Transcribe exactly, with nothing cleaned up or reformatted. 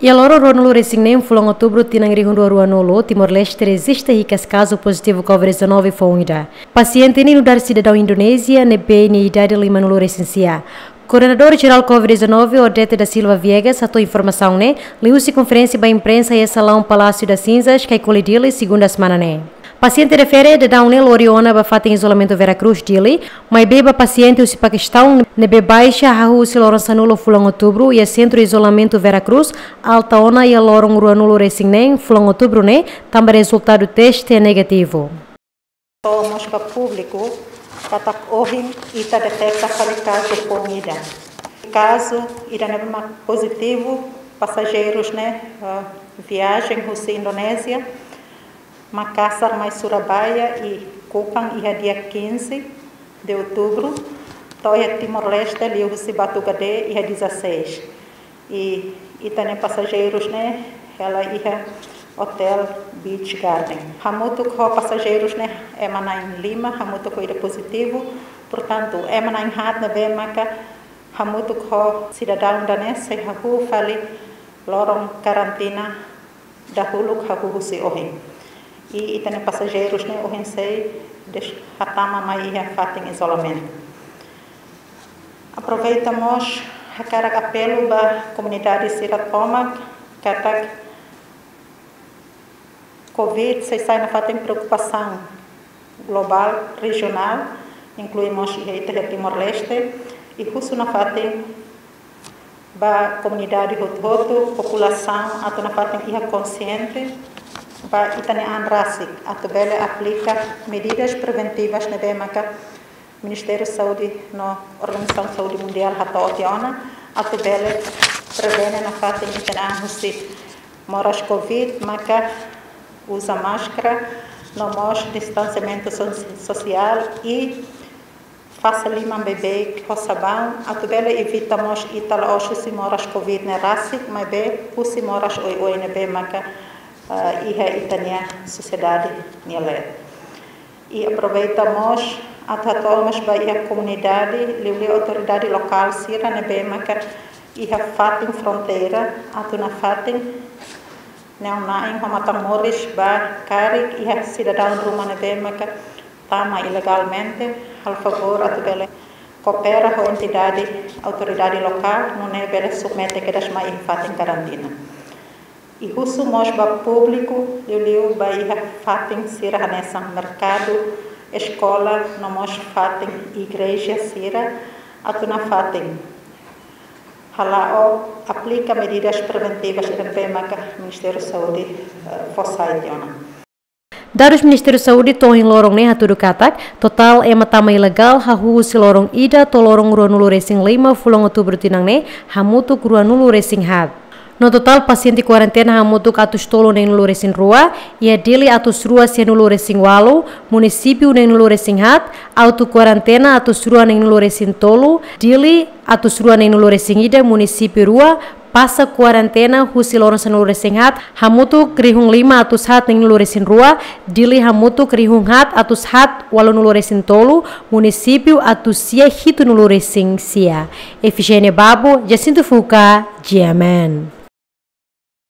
Iha loron ruanulu-resin-neen fulan Outubru tinan rihun rua rua-nulu, Timor-Leste rejista hikas kazu pozitivu COVID dezanove foun ida. Pasiente ne'e nu'udar sidadaun Indonézia, ne'ebé nia idade limanulu-resin-sia. Koordenadór Jerál COVID dezanove, Odete da Silva Viegas, hato'o informasaun ne'e liuhusi konferénsia ba imprensa iha salaun Palácio das Cinzas, Caicoli, Dili, segunda semana ne'e. Pasiente refere daudaun ne'e lori ona ba fatin izolamentu Vera Cruz, Dili, maibé ba pasiente husi Pakistaun ne'ebé baixa hahú husi loron sanulu fulan Outubru iha sentru izolamentu Vera Cruz, alta ona iha loron ruanulu-resin-neen fulan Outubru ne'e, tanba rezultadu teste negativu. Hato'o mós ba públiku katak ohin ita deteta fali kazu foun ida. Kazu ida ne'ebé mak pozitivu, pasajeirus ne'e, eh, viajen husi Indonézia, Makassar mai Surabaya iha Kupang iha dia quinze de Outubro, to'o iha Timor-Leste liuhusi Batugade iha dezasseis. I ita-nia pasajeirus ne'e hela iha Hotel Beach Garden. Hamutuk ho pasajeirus ne'e ema na'in lima, hamutuk ho ida pozitivu. Portantu, ema na'in haat ne'ebé maka hamutuk ho sidadaun ida-ne'e sei hahú fali loron karantina dahuluk hahú husi ohin. I ita-nia pasajeirus ne'e ohin sei des-, hatama mai iha fatin izolamentu. Aproveita mós hakarak apelu ba komunidade sira tomak katak COVID sei sai nafatin preokupasaun globál, rejionál, inklui mós iha ita iha Timor-Leste, i husu nafatin ba komunidade hotu-hotu, populasaun atu nafatin iha konsiente ba ita-nia an rasik, atu bele aplika medidas preventivas ne'ebé maka Ministériu Saúde no Organizasaun Saúde Mundiál hato'o tiha ona, atu bele prevene nafatin ita-nia an husi moras COVID, maka uza máskara, no mós distansiamentu so-, sosiál i fase liman beibeik ho sabaun, atu bele evita mós ita la'ós husi moras COVID ne'e rasik, maibé husi moras oioin ne'ebé maka, ah, iha ita-nia sosiedade nia leet. I aproveita mós atu hato'o mós ba iha komunidade, liuliu autoridade lokál sira ne'ebé maka iha fatin fronteira, atu nafatin neon-na'in ho matan-moris ba karik iha sidadaun ruma ne'ebé maka tama ilegalmente, halo favór atu bele koopera ho entidade autoridade lokál, nune'e bele submete kedas mai iha fatin karantina. I husu mós ba públiku, liuliu ba iha fatin sira hanesan merkadu, eskola, no mós fatin igreja sira, atu nafatin hala'o aplika medidas preventivas ida ne'ebé maka Ministériu Saúde, eh, fó sai tiha ona. Dadus Ministériu Saúde to'o ohin loron ne'e hatudu katak, totál ema tama ilegál hahú husi loron ida to'o loron ruanulu-resin-lima fulan Outubru tinan ne'e, hamutuk ruanulu-resin-haat. No totál pasiente kuarentena hamutuk atus tolu neenulu-resin-rua, iha Dili atus rua sianulu-resin-ualu, munisípiu neenulu-resin-haat, auto kuarentena atus rua neenulu-resin-tolu, Dili atus rua neenulu-resin-ida, munisípiu rua, pasa kuarentena husi loron sanulu-resin-haat, hamutuk rihun lima atus haat neenulu-resin-rua, Dili hamutuk rihun haat atus haat ualunulu-resin-tolu, munisípiu atus sia hitunulu-resin-sia. Efigénia Babo, Jacinto Fuca, G M N.